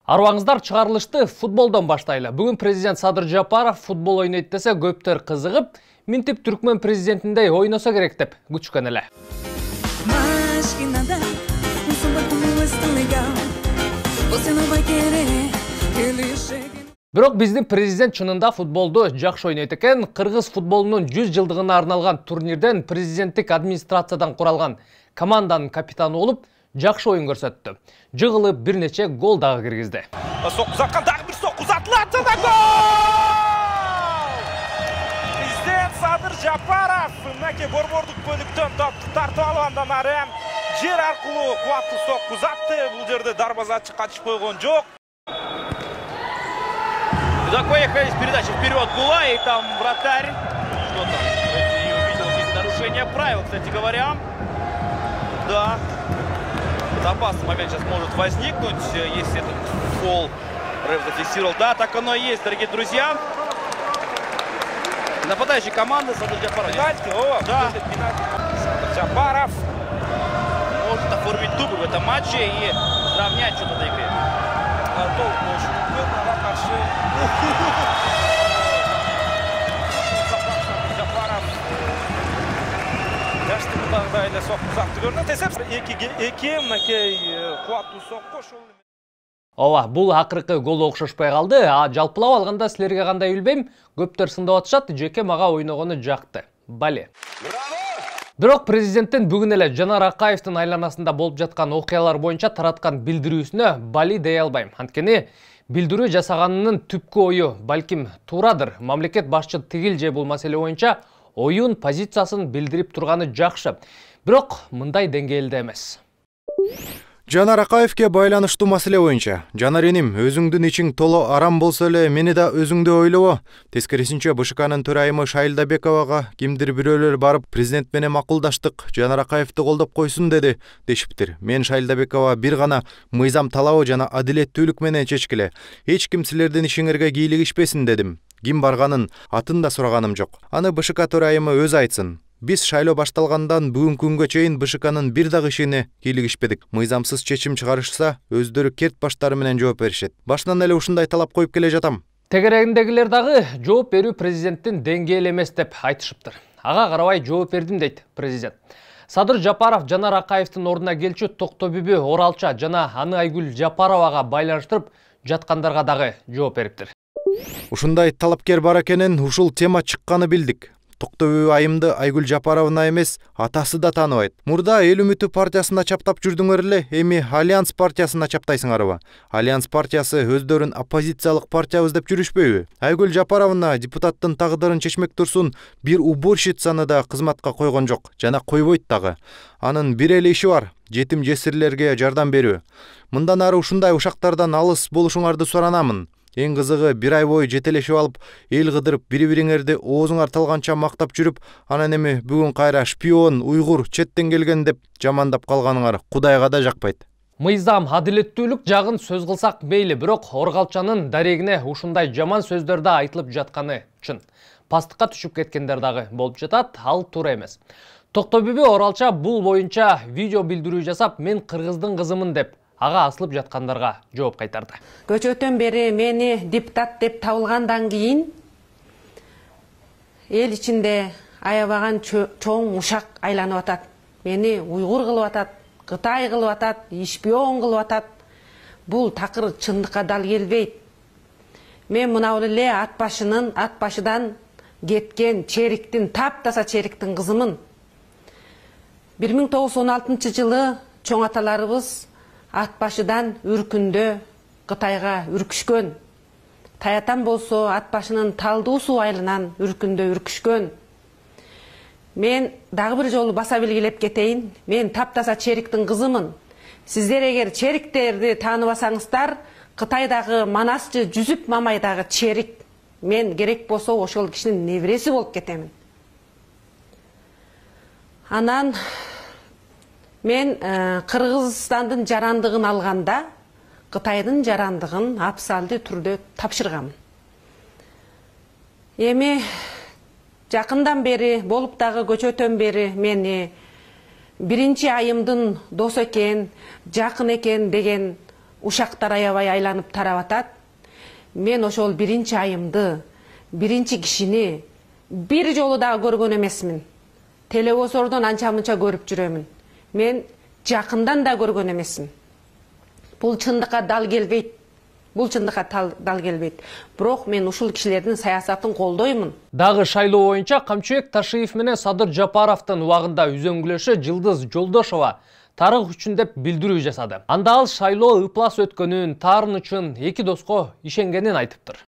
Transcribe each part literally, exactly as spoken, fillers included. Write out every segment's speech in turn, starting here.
Арбаңыздар, чыгарылышты футболдон баштайлы. Бүгүн президент Садыр Жапаров футбол ойнойт десе көптөр кызыгып, минтип Түркмөн президентиндей ойносо керек деп күчкөн эле. Бирок биздин президент чынында футболду жакшы ойнойт экен. Кыргыз футболунун жүз жылдыгына арналган турнирден президенттик администрациядан куралган команданын капитаны болуп, жакшы ойын көрсөттү. Жыгылып бир нече гол дагы киргизди. Сокку узаткан дагы бир сокку узатылат жана гол! Президент Садыр Жапаров мынакей борбордук бөлүктөн топту тартып алгандан ары жер аркылуу кубаттуу сокку узатты. Бул жерде дарбазачы качып койгон жок. Так, поехали с передачи вперед была, и там вратарь. Что там? Я увидел здесь нарушение правил, кстати говоря. Да. Опасный момент сейчас может возникнуть, если этот фол реф зафиксировал. Да, так оно и есть, дорогие друзья. Нападающий команды Садыр Жапаров. Пенальти, о, да. Садыр Жапаров может оформить дубль в этом матче и равнять что-то до игры. Готов очень угодно, да, каршы. Жапаров. Жашты мындагыдай сокку узатты көрүнөт. Эсеп эки мынакей кубаттуу сокку ошол. Ооба, бул акыркы гол окшошпой калды. А жалпылап алганда силерге кандай билбейм, көптөр сындап атышат, жеке мага ойногону жакты. Бали. Бирок президенттин бүгүн эле Жанар Акаевдин айланасында болуп жаткан окуялар боюнча тараткан билдирүүсүнө бали дей албайм. Анткени билдирүү жасаганынын түпкү ою балким туурадыр. Мамлекет башчы тигил же бул маселе боюнча оюн, позициясын билдирип турганы жакшы. Бирок мындай деңгээлде эмес. Жанар Акаевке байланыштуу маселе боюнча: Жанар эним, өзүңдүн ичиң толо арам болсо эле мени да өзүңдү ойлобо. Тескерисинче БШКнын төрайымы Шайлдабековага кимдир бирөөлөр барып президент менен макулдаштык, Жанар Акаевди колдоп койсун деди дешиптир. Мен Шайлдабекова бир гана мыйзам талабы жана адилеттүүлүк менен чечкиле. Эч ким силердин ишиңерге кийлигишпесин дедим. Ким барганын атын да сураганым жок. Аны БШК төрайымы өзү айтсын. Биз шайлоо башталгандан бүгүнкү күнгө чейин БШКнын бир дагы ишине кийлигишпедик. Мыйзамсыз чечим чыгарышса, өздөрү керт баштары менен жооп беришет. Башынан эле ушундай талап коюп келе жатам. Тегерегиндегилер дагы жооп берүү президенттин деңгээли эмес деп айтышыптыр. Ага карабай жооп бердим дейт президент. Садыр Жапаров Жанар Акаевдин ордуна келчү Токтобүбү Оралча жана аны Айгүл Жапаровага байланыштырып жаткандарга дагы жооп бериптир. Ушундай талапкер бар экенин ушул тема чыкканы билдик. Токтобүбү айымды Айгүл Жапаровна эмес, атасы да тааныбайт. Мурда Эл үмүтү партиясына чаптап жүрдүңөр эле, эми Альянс партиясына чаптайсыңарбы? Альянс партиясы өздөрүн оппозициялык партиябыз деп жүрүшпөйбү? Айгүл Жапаровна депутаттын тагдырын чечмек турсун бир уборщицаны да кызматка койгон жок, жана койбойт дагы. Анын бир эле иши бар: жетим жесирлерге жардам берүү. Мындан ары ушундай ушактардан алыс болушуңарды суранамын. Эң кызыгы, бир ай бою жетелешип алып, эл кыдырып, бири-бириңерди оозуңар талганча мактап жүрүп, анан эми бүгүн кайра шпион, уйгур, четтен келген деп жамандап калганыңар Кудайга да жакпайт. Мыйзам, адилеттүүлүк жагын сөз кылсак мейли, бирок Оргалчанын дарегине ушундай жаман сөздөр да айтылып жатканы чын. Пастыкка түшүп кеткендер дагы болуп жатат, ал туура эмес. Токтобүбү Оралча бул боюнча видео билдирүү жасап, мен кыргыздын кызымын деп ага асылып жаткандарга жооп кайтарды. Көчөтөн бери мени депутат деп табылгандан кийин эл ичинде аябаган чоң ушак айланып атат. Мени уйгур кылып атат, Кытай кылып атат, шпион кылып атат. Бул такыр чындыкка дал келбейт. Мен мына эле ат башынын, ат башыдан кеткен чериктин, таптаса чериктин кызымын. бир миң тогуз жүз он алтынчы жылы чоң аталарыбыз ат башыдан үркүндө Кытайга үркүшкөн. Таятан болсо ат башынын талдуу суу айылынан үркүндө үркүшкөн. Мен дагы бир жолу баса белгилеп кетейин. Мен таптаса чериктин кызымын. Сиздер эгер чериктерди тааныбасаңыздар, Кытайдагы Манасчы Жүзүп Мамайдагы черик. Мен керек болсо ошол кишинин небереси болуп кетемин. Анан мен Кыргызстандын жарандыгын алганда Кытайдын жарандыгын абсалдуу түрдө тапшыргам. Эми жакындан бери болуп дагы көчөтөн бери мени биринчи айымдын досу экен, жакын экен деген ушактар аябай айланып тарап атат. Мен ошол биринчи айымды, биринчи кишини бир жолу дагы көргөн эмесмин. Телевизордон анча мынча көрүп жүрөмүн. Мен жакындан да көргөн эмесмин. Бул чындыкка дал келбейт. Бул чындыкка дал келбейт. Бирок мен ушул кишилердин саясатын колдоймун. Дагы шайлоо боюнча Камчыбек Ташиев менен Садыр Жапаровдун убагында үзөңгүлөшү Жылдыз Жолдошова тарых үчүн деп билдирүү жасады. Анда ал шайлоо ыплас өткөнүн, таарын үчүн эки доско ишенгенин айтыптыр.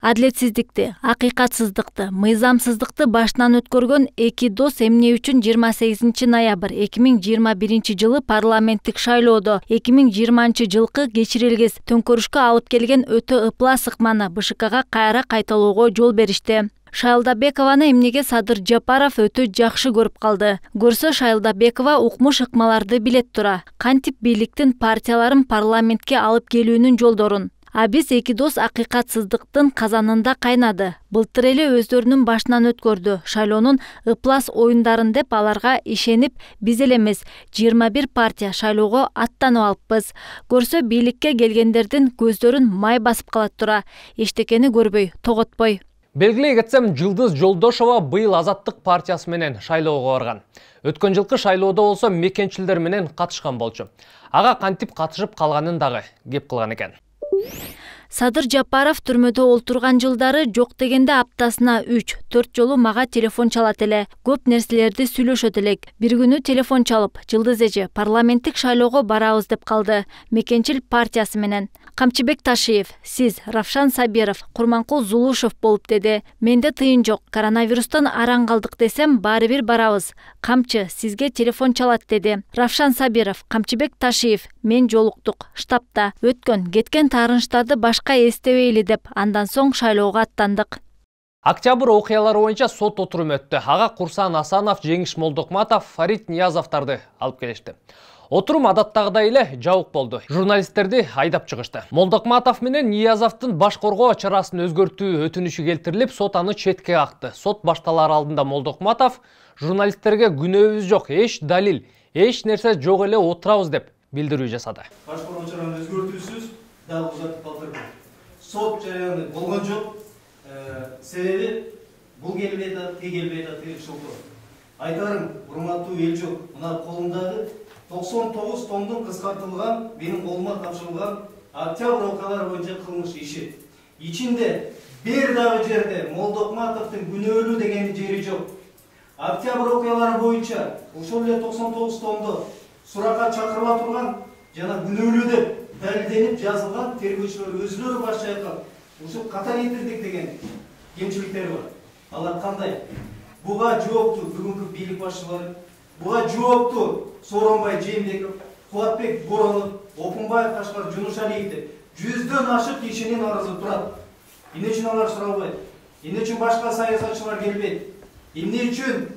Адилетсиздикти, акыйкатсыздыкты, мыйзамсыздыкты башынан өткөргөн эки дос эмне үчүн жыйырма сегизинчи ноябрь эки миң жыйырма биринчи жылы парламенттик шайлоодо эки миң жыйырманчы жылкы кечирилгес төңкөрүшкө алып келген өтө ыплас ыкманы БШКга кайра кайталоого жол беришти. Шайлдабекованы эмнеге Садыр Жапаров өтө жакшы көрүп калды. Көрсө Шайлдабекова укмуш ыкмаларды билет тура. Кантип бийликтин партияларын парламентке алып келүүнүн жолдорун. А биз эки дос акыйкатсыздыктын казанында кайнады. Былтыр эле өздөрүнүн башынан өткөрдү. Шайлоонун ыплас оюндарын деп аларга ишенип, биз эле эмес, жыйырма бир партия шайлоого аттанып алыппыз. Көрсө бийликке келгендердин көздөрүн май басып калат тура. Эчтекени көрбөй, тоготпой. Белгилей кетсем, Жылдыз Жолдошова быйыл Азаттык партиясы менен шайлоого барган. Өткөн жылкы шайлоодо болсо мекенчилдер менен катышкан болчу. Ага кантип катышып калганын дагы кеп кылган экен. Садыр Жапаров түрмөдө олтурган жылдары жок дегенде аптасына үч төрт жолу мага телефон чалат эле. Көп нерселерди сүйлөшөт элек. Бир күнү телефон чалып, Жылдыз эже, парламенттик шайлоого барабыз деп калды. Мекенчил партиясы менен. Камчыбек Ташиев, сиз, Равшан Сабиров, Курманкул Зулушев болуп деди. Менде тыйын жок. Коронавирустан араң калдык десем, баары бир барабыз. Камчы, сизге телефон чалат деди. Равшан Сабиров, Камчыбек Ташиев, мен жолуктук. Штабта өткөн, кеткен таарынычтарды башка эстебейли деп, андан соң шайлоого аттандык. Октябрь окуялары боюнча сот отуруму өттү. Ага Курсан Асанов, Жеңиш Молдокматов, Фарид Ниязовдарды алып келишти. Отурум адаттагыдай эле жабык болду. Журналисттерди айдап чыгышты. Молдокматов менен Ниязовдун баш коргоо чарасын өзгөртүү өтүнүшү келтирилип, сот аны четке какты. Сот башталар алдында Молдокматов журналисттерге күнөөбүз жок, эч далил, эч нерсе жок эле отурабыз деп билдирүү жасады. Баш коргоо чараны өзгөртүүсүз дагы узатып калтырды. Сот жарыяны болгон жок. Себеби бул келбей атат, тиги келбей атат деп шылтоо. Айтарым, урматтуу эл жок. Мына колумдагы токсон тогуз томдун кыскартылган, менин колума тапшырылган октябрь окуялары боюнча кылмыш иши. Ичинде бир дагы жерде Молдокматовдун күнөөлүү деген жери жок. Октябрь окуялары боюнча ошол эле токсон тогуз томдо суракка чакырыла турган жана күнөөлүү деп далилденип жазылган тергөөчүлөр өзүлөрү баш чайкап, ушул ката кетирдик деген кемчиликтери бар. Алар кандай? Буга жооптуу бүгүнкү бийлик башчылары, буга жооптуу Сооронбай Жээнбеков, Кубатбек Боронов, Опунбаев Кашкар Жунушалиев деп жүздөн ашык кишинин арызы турат. Эмне үчүн алар суралбайт? Эмне үчүн башка саясатчылар келбейт? Эмне үчүн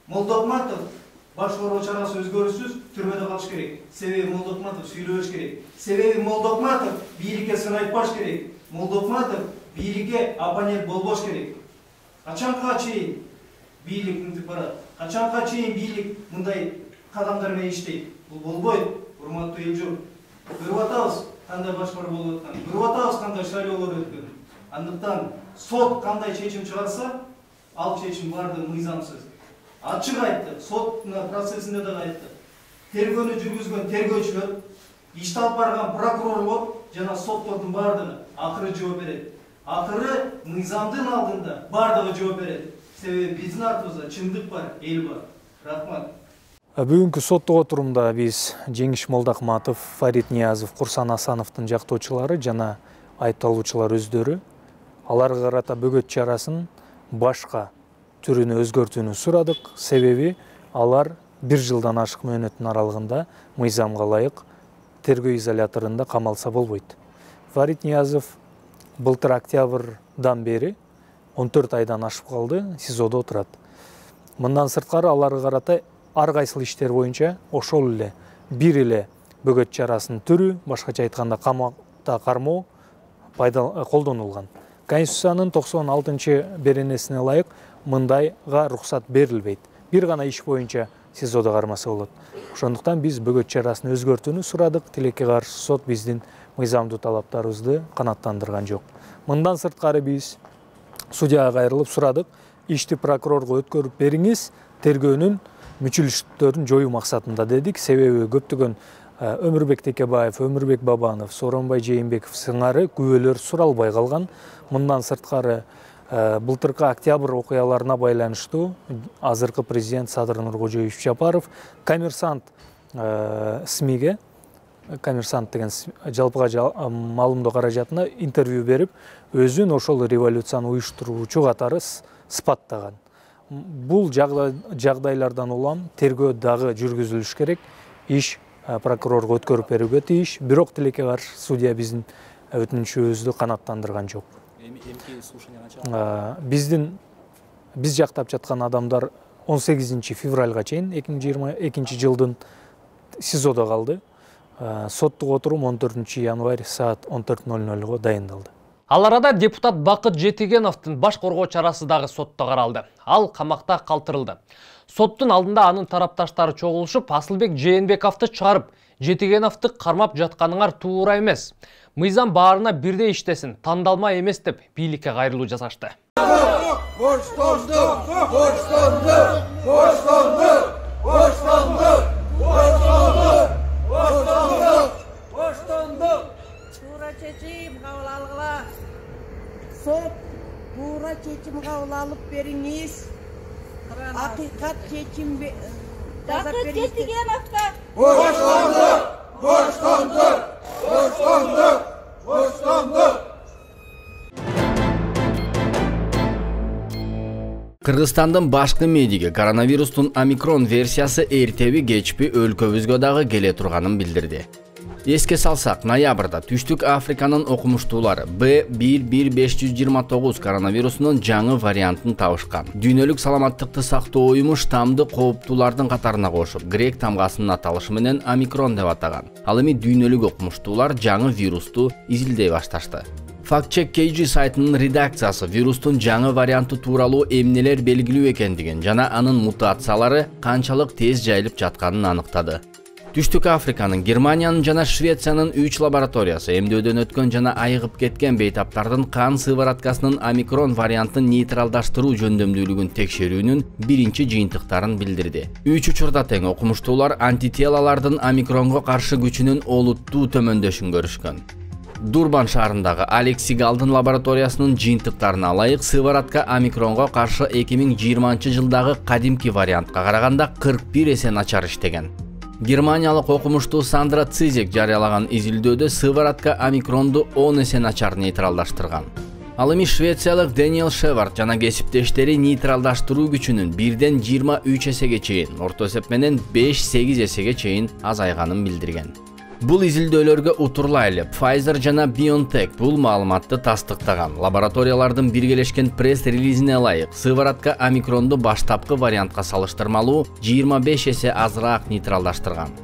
Молдокматов баш коргоо чарасы өзгөрүүсүз түрмөдө калыш керек? Себеби Молдокматов сүйлөбөш керек. Себеби Молдокматов бийликке сын айтпаш керек. Молдокматов бийликке оппонент болбош керек. Качанга чейин бийлик мынтип барат? Качанга чейин бийлик мындай кадамдар менен иштейт? Бул болбойт, урматтуу эл журт. Көрүп атабыз кандай башкаруу болуп атканын, көрүп атабыз кандай шайлоолор өткөнүн. Андыктан сот кандай чечим чыгарса, ал чечим баардыгы мыйзамсыз. Ачык айтты, сот процессинде да айтты. Тергөөнү жүргүзгөн тергөөчүлөр, ишти алып барган прокурорлор жана соттордун баардыгы акыры жооп берет. Акыры мыйзамдын алдында баардыгы жооп берет. Себеби биздин артыбызда чындык бар, эл бар. Рахмат. Бүгүнкү соттук отурумда биз Жеңиш Молдокматов, Фарид Ниязов, Курсан Асановдун жактоочулары жана айыпталуучулар өздөрү аларга карата бөгөт чарасын башка түрүнө өзгөртүүнү сурадык. Себеби алар бир жылдан ашык мөөнөттүн аралыгында мыйзамга ылайык тергөө изоляторунда камалса болбойт. Фарид Ниязов былтыр октябрдан бери он төрт айдан ашып калды, СИЗОдо отурат. Мындан сырткары аларга карата ар кайсыл иштер боюнча ошол эле бир эле бөгөт чарасынын түрү, башкача айтканда камакта кармоо колдонулган. Конституциянын токсон алтынчы беренесине ылайык мындайга уруксат берилбейт. Бир гана иш боюнча сизодо кармаса болот. Ошондуктан биз бөгөт чарасын өзгөртүүнү сурадык. Тилекке каршы сот биздин мыйзамдуу талаптарыбызды канааттандырган жок. Мындан сырткары биз судьяга кайрылып сурадык. Ишти прокурорго өткөрүп бериңиз, тергөөнүн мүчүлүштөрүн жоюу максатында дедик. Себеби көптөгөн Өмүрбек Текебаев, Өмүрбек Бабанов, Сооронбай Жээнбеков сыңары күбөлөр суралбай калган. Мындан сырткары былтыркы октябрь окуяларына байланыштуу азыркы президент Садыр Нуркожоевич Жапаров Коммерсант СМИге, Коммерсант деген жалпыга маалымдоо каражатына интервью берип, өзүн ошол революцияны уюштуруучу катары сыпаттаган. Бул жагдайлардан улам тергөө дагы жүргүзүлүш керек. Иш прокурорго өткөрүп берүүгө тийиш, бирок тилекке каршы судья биздин өтүнүчүбүздү канааттандырган жок. Биздин биз жактап жаткан адамдар он сегизинчи февралга чейин эки миң жыйырма экинчи жылдын СИЗОдо калды. Соттук отурум он төртүнчү январь саат он төрт ноль нольго дайындалды. Ал арада депутат Бакыт Жетигеновдун баш коргоо чарасы дагы сотто каралды. Ал камакта калтырылды. Соттун алдында анын тарапташтары чогулушуп, Асылбек Жээнбековду чыгарып, Жетигеновду кармап жатканыңар туура эмес. Мыйзам баарына бирдей иштесин, тандалма эмес деп бийликке кайрылуу жасашты. Боштондук, боштондук, боштондук, боштондук, боштондук, боштондук, боштондук. Туура чечим кабыл алгыла. Сот туура чечим кабыл алып бериңиз. Акыйкат чечим жасап бериңиз. Боштондук, боштондук, боштондук, боштондук. Кыргызстандын башкы медиги коронавирустун омикрон версиясы эртеби кечпи өлкөбүзгө дагы келе турганын билдирди. Эске салсак, ноябрда Түштүк Африканын окумуштуулары Б бир бир беш жүз жыйырма тогуз коронавирусунун жаңы вариантын табышкан. Дүйнөлүк саламаттыкты сактоо уюму штамды кооптуулардын катарына кошуп, грек тамгасынын аталышы менен омикрон деп атаган. Ал эми дүйнөлүк окумуштуулар жаңы вирусту изилдей башташты. Fact-Check кей джи сайтынын редакциясы вирустун жаңы варианты тууралуу эмнелер белгилүү экендигин жана анын мутациялары канчалык тез жайылып жатканын аныктады. Түштүк Африканын, Германиянын жана Швециянын үч лабораториясы эмдөөдөн өткөн жана айыгып кеткен бейтаптардын кан сывороткасынын омикрон вариантын нейтралдаштыруу жөндөмдүүлүгүн текшерүүнүн биринчи жыйынтыктарын билдирди. Үч учурда тең окумуштуулар антителалардын омикронго каршы күчүнүн олуттуу төмөндөшүн көрүшкөн. Дурбан шаарындагы Алекс Сигалдын лабораториясынын жыйынтыктарына ылайык сыворотка омикронго каршы эки миң жыйырманчы жылдагы кадимки вариантка караганда кырк бир эсе начар иштеген. Германиялык окумуштуу Сандра Цизек жарыялаган изилдөөдө сыворотка омикронду он эсе начар нейтралдаштырган. Ал эми швециялык Дэниел Шевард жана кесиптештери нейтралдаштыруу күчүнүн бирден жыйырма үч эсеге чейин, орто эсеп менен беш сегиз эсеге чейин азайганын билдирген. Бул изилдөөлөргө утурлайлы Pfizer жана BioNTech бул маалыматты тастыктаган. Лабораториялардын биргелешкен пресс-релизине ылайык, сыворотка омикронду баштапкы вариантка салыштырмалуу жыйырма беш эсе азыраак нейтралдаштырган.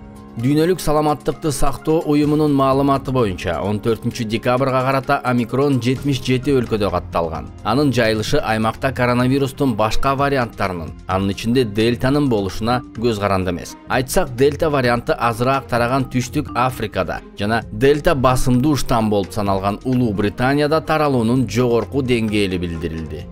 Дүйнөлүк саламаттыкты сактоо уюмунун маалыматы боюнча он төртүнчү декабрга карата омикрон жетимиш жети өлкөдө катталган. Анын жайылышы аймакта коронавирустун башка варианттарынын, анын ичинде дельтанын болушуна көз каранды эмес. Айтсак, дельта варианты азыраак тараган Түштүк Африкада жана дельта басымдуу штам болуп саналган Улуу Британияда таралуунун жогорку деңгээли билдирилди.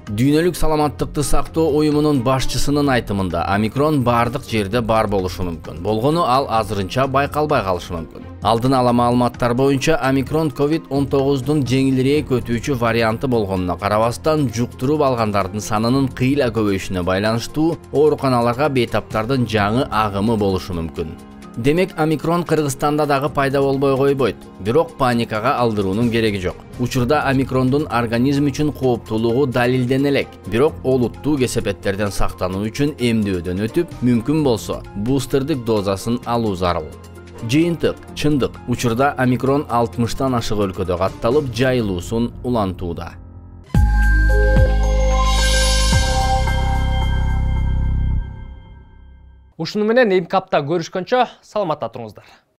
Дүйнөлүк саламаттыкты сактоо уюмунун башчысынын айтымында омикрон бардык жерде бар болушу мүмкүн. Болгону ал азырынча байкалбай калышы мүмкүн. Алдын ала маалыматтар боюнча омикрон ковид он тогуздун жеңилирээк өтүүчү варианты болгонуна карабастан жуктуруп алгандардын санынын кыйла көбөйүшүнө байланыштуу ооруканаларга бейтаптардын жаңы агымы болушу мүмкүн. Демек, омикрон Кыргызстанда дагы пайда болбой койбойт, бирок паникага алдыруунун кереги жок. Учурда омикрондун организм үчүн кооптуулугу далилдене элек, бирок олуттуу кесепеттерден сактануу үчүн эмдөөдөн өтүп, мүмкүн болсо, бустердик дозасын алуу зарыл. Жыйынтык, чындык, учурда омикрон алтымыштан ашык өлкөдө катталып, жайылуусун улантууда. Ушуну менен эмки апта көрүшкөнчө саламатта туруңуздар.